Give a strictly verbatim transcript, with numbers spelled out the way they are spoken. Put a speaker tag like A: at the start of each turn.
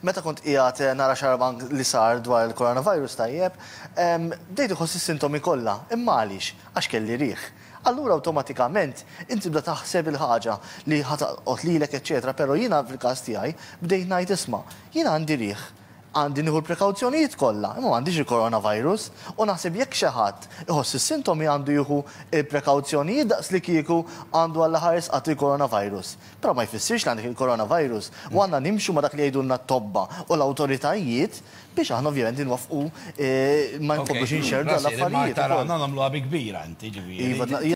A: meta kont qiegħed nara xarabank li sar dwar il-coronavirus, tajjeb, bdejt iħoss is-sintomi kollha. Imma għaliex? Għax kelli riħ. Allura awtomatikament inti tibda taħseb il-ħaġa li ħa tolqot lilek, eċetera, però jiena fil-każ tiegħi bdejt ngħid, "Isma', jiena għandi riħ, għandi nieħu l-prekawzjonijiet kollha, imma m'għandix il-coronavirus," u naħseb jekk xi ħadd iħoss is-sintomi għandu jieħu il-prekawzjonijiet daqs li kieku għandu għal ħares qatt il-coronavirus. Però ma jfissirx li għandek il-coronavirus u għandna nimxu ma dak li jgħidulna t-tobba u l-awtoritajiet biex aħna ovvjament nwaffqu eh, ma nkomplux inxerdu l-affarijiet.
B: Tara, nagħmluha bi kbira inti, ġifieri.
A: Iva.